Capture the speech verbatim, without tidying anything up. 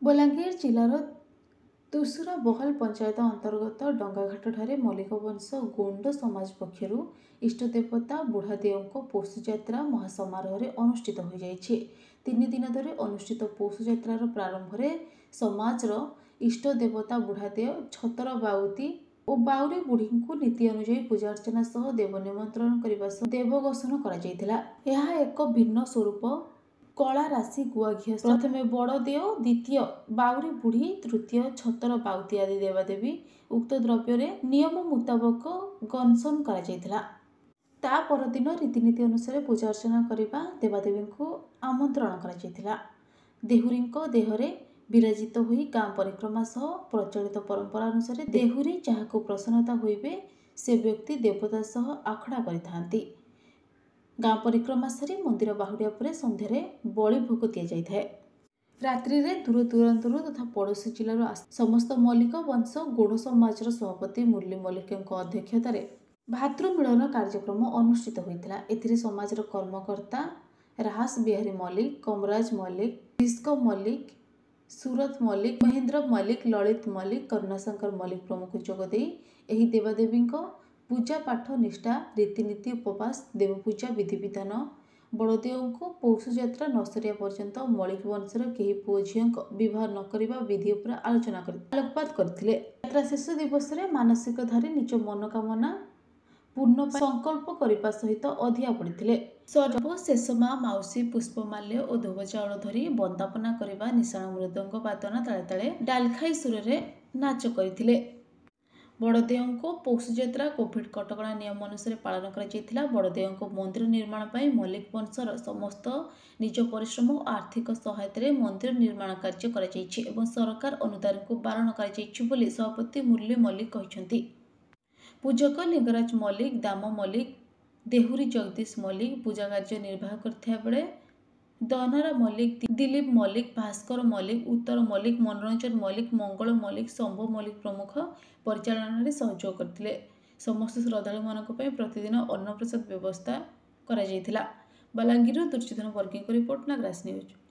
ବଲାଙ୍ଗୀର ଜିଲ୍ଲାର ତୁଷୁରା ବହାଲ ପଞ୍ଚାୟତ ଅନ୍ତର୍ଗତ ଡଙ୍ଗାଘାଟଠାରେ ମଲ୍ଲିକ ବଂଶ ଗୋଣ୍ଡ ସମାଜ ପକ୍ଷରୁ ଇଷ୍ଟଦେବତା ବୁଢ଼ାଦେଓଙ୍କ ପୌଷଯାତ୍ରା ମହାସମାରୋହରେ ଅନୁଷ୍ଠିତ ହୋଇଯାଇଛି। ତିନି ଦିନ ଧରି ଅନୁଷ୍ଠିତ ପୌଷଯାତ୍ରାର ପ୍ରାରମ୍ଭରେ ସମାଜର ଇଷ୍ଟ ଦେବତା ବୁଢ଼ାଦେଓ, ଛତର ବାଉତି ଓ ବାଉରୀ ବୁଢ଼ୀଙ୍କୁ ନୀତି ଅନୁଯାୟୀ ପୂଜାର୍ଚ୍ଚନା ସହ ଦେବ ନିମନ୍ତ୍ରଣ କରିବା ସହ ଦେବଗସନ କରାଯାଇଥିଲା। ଏହା ଏକ ଭିନ୍ନ ସ୍ୱରୂପ କଳା ରାଶି ଗୁଆ ଘିଅ। ପ୍ରଥମେ ବଡ଼ଦେଓ, ଦ୍ୱିତୀୟ ବାଉରୀ ବୁଢ଼ୀ, ତୃତୀୟ ଛତର ବାଉତି ଆଦି ଦେବାଦେବୀ ଉକ୍ତ ଦ୍ରବ୍ୟରେ ନିୟମ ମୁତାବକ ଗନସନ କରାଯାଇଥିଲା। ତା ପରଦିନ ରୀତିନୀତି ଅନୁସାରେ ପୂଜାର୍ଚ୍ଚନା କରିବା ଦେବାଦେବୀଙ୍କୁ ଆମନ୍ତ୍ରଣ କରାଯାଇଥିଲା। ଦେହୁରୀଙ୍କ ଦେହରେ ବିରାଜିତ ହୋଇ ଗାଁ ପରିକ୍ରମା ସହ ପ୍ରଚଳିତ ପରମ୍ପରା ଅନୁସାରେ ଦେହୁରୀ ଯାହାକୁ ପ୍ରସନ୍ନତା ହୋଇବେ ସେ ବ୍ୟକ୍ତି ଦେବତା ସହ ଆଖଡ଼ା କରିଥାନ୍ତି। ଗାଁ ପରିକ୍ରମା ସାରି ମନ୍ଦିର ବାହୁଡ଼ିବା ପରେ ସନ୍ଧ୍ୟାରେ ବଳି ଭୋଗ ଦିଆଯାଇଥାଏ। ରାତ୍ରିରେ ଦୂର ଦୂରାନ୍ତରୁ ତଥା ପଡ଼ୋଶୀ ଜିଲ୍ଲାରୁ ସମସ୍ତ ମଲ୍ଲିକ ବଂଶ ଗୋଡ଼ ସମାଜର ସଭାପତି ମୁରଲୀ ମଲ୍ଲିକଙ୍କ ଅଧ୍ୟକ୍ଷତାରେ ଭାତୃମିଳନ କାର୍ଯ୍ୟକ୍ରମ ଅନୁଷ୍ଠିତ ହୋଇଥିଲା। ଏଥିରେ ସମାଜର କର୍ମକର୍ତ୍ତା ରାହାସ ବିହାରୀ ମଲ୍ଲିକ, କମରାଜ ମଲ୍ଲିକ, ରିସ୍କ ମଲ୍ଲିକ, ସୁରଥ ମଲ୍ଲିକ, ମହେନ୍ଦ୍ର ମଲ୍ଲିକ, ଲଳିତ ମଲ୍ଲିକ, କରୁଣାଶଙ୍କର ମଲ୍ଲିକ ପ୍ରମୁଖ ଯୋଗଦେଇ ଏହି ଦେବାଦେବୀଙ୍କ ପୂଜା ପାଠ, ନିଷ୍ଠା, ରୀତିନୀତି, ଉପବାସ, ଦେବପୂଜା ବିଧିବିଧାନ, ବଡ଼ଦେଓଙ୍କୁ ପୌଷଯାତ୍ରା ନ ସରିବା ପର୍ଯ୍ୟନ୍ତ ମଳିକ ବଂଶର କେହି ପୁଅ ଝିଅଙ୍କ ବିବାହ ନ କରିବା ବିଧି ଉପରେ ଆଲୋଚନା କରି ଆଲୋକପାତ କରିଥିଲେ। ଯାତ୍ରା ଶେଷ ଦିବସରେ ମାନସିକଧାରୀ ନିଜ ମନୋକାମନା ପୂର୍ଣ୍ଣ ସଂକଳ୍ପ କରିବା ସହିତ ଅଧିଆ ପଡ଼ିଥିଲେ। ସର୍ବଶେଷ ମା ମାଉସୀ ପୁଷ୍ପମାଲ୍ୟ ଓ ଧୋବ ଚାଉଳ ଧରି ବନ୍ଦାପନା କରିବା ନିଶାଣ ମୃଦଙ୍ଗ ବାଦନ ତାଳେ ତାଳେ ଡାଲଖାଇ ସୁରରେ ନାଚ କରିଥିଲେ। ବଡ଼ଦେଓଙ୍କ ପୌଷଯାତ୍ରା କୋଭିଡ୍ କଟକଣା ନିୟମ ଅନୁସାରେ ପାଳନ କରାଯାଇଥିଲା। ବଡ଼ଦେଓଙ୍କ ମନ୍ଦିର ନିର୍ମାଣ ପାଇଁ ମଲ୍ଲିକ ବଂଶର ସମସ୍ତ ନିଜ ପରିଶ୍ରମ ଓ ଆର୍ଥିକ ସହାୟତାରେ ମନ୍ଦିର ନିର୍ମାଣ କାର୍ଯ୍ୟ କରାଯାଇଛି ଏବଂ ସରକାର ଅନୁଦାନକୁ ବାରଣ କରାଯାଇଛି ବୋଲି ସଭାପତି ମୁରଲୀ ମଲ୍ଲିକ କହିଛନ୍ତି। ପୂଜକ ଲିଙ୍ଗରାଜ ମଲ୍ଲିକ, ଦାମ ମଲ୍ଲିକ, ଦେହୁରୀ ଜଗଦୀଶ ମଲ୍ଲିକ ପୂଜା କାର୍ଯ୍ୟ ନିର୍ବାହ କରିଥିବା ବେଳେ ଦନରା ମଲ୍ଲିକ, ଦିଲୀପ ମଲ୍ଲିକ, ଭାସ୍କର ମଲ୍ଲିକ, ଉତ୍ତର ମଲ୍ଲିକ, ମନୋରଞ୍ଜନ ମଲ୍ଲିକ, ମଙ୍ଗଳ ମଲ୍ଲିକ, ଶମ୍ଭୁ ମଲ୍ଲିକ ପ୍ରମୁଖ ପରିଚାଳନାରେ ସହଯୋଗ କରିଥିଲେ। ସମସ୍ତ ଶ୍ରଦ୍ଧାଳୁମାନଙ୍କ ପାଇଁ ପ୍ରତିଦିନ ଅନ୍ନପ୍ରସାଦ ବ୍ୟବସ୍ଥା କରାଯାଇଥିଲା। ବଲାଙ୍ଗୀରରୁ ଦୁର୍ଯ୍ୟୋଧନ ବର୍ଗୀଙ୍କ ରିପୋର୍ଟ, ନାଗରାଜ ନ୍ୟୁଜ୍।